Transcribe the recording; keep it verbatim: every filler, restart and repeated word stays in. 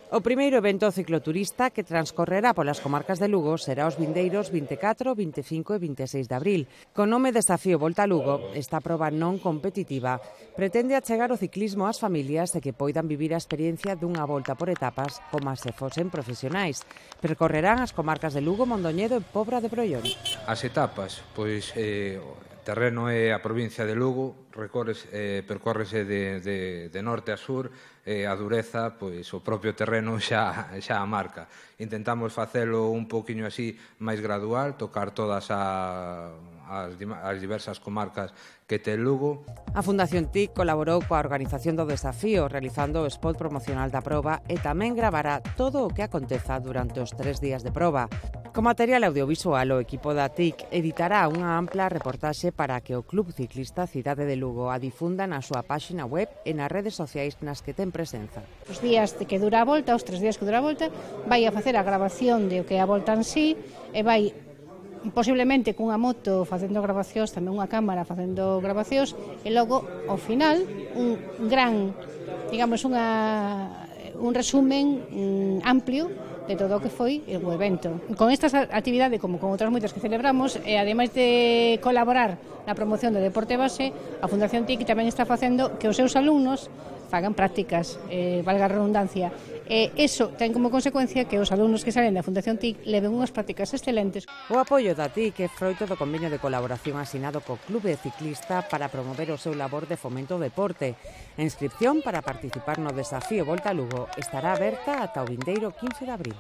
O primeiro evento cicloturista que transcorrerá polas comarcas de Lugo será os vindeiros vinte e catro, vinte e cinco e vinte e seis de abril. Con nome Desafío Volta a Lugo, esta proba non competitiva pretende achegar o ciclismo ás familias e que poidan vivir a experiencia dunha volta por etapas como se fosen profesionais. Percorrerán as comarcas de Lugo, Mondoñedo e Pobra de Brollón. As etapas, pois eh, o terreno é a provincia de Lugo, recorres, eh, percórrese de, de, de norte a sur, e a dureza, pois o propio terreno xa, xa a marca. Intentamos facelo un poquinho así máis gradual, tocar todas a, as, as diversas comarcas que ten Lugo. A Fundación T I C colaborou coa organización do desafío, realizando o spot promocional da proba e tamén gravará todo o que aconteza durante os tres días de proba. Co material audiovisual, o equipo da T I C editará unha ampla reportaxe para que o Club Ciclista Cidade de Lugo a difunda na súa páxina web e nas redes sociais nas que ten presenza. Os días de que dura a volta, os tres días que dura a volta, vai a facer a grabación de o que é a volta en sí e vai posiblemente cunha moto facendo grabacións, tamén unha cámara facendo grabacións e logo, ao final, un gran, digamos, unha, un resumen mm, amplio de todo o que foi o evento. Con estas actividades, como con outras moitas que celebramos, e ademais de colaborar na promoción do deporte base, a Fundación T I C tamén está facendo que os seus alumnos fagan prácticas, eh, valga a redundancia. E iso ten como consecuencia que os alumnos que salen da Fundación T I C leven unhas prácticas excelentes. O apoio da T I C é froito do convenio de colaboración asinado co Clube Ciclista para promover o seu labor de fomento ao deporte. A inscripción para participar no Desafío Volta a Lugo estará aberta ata o vindeiro quince de abril.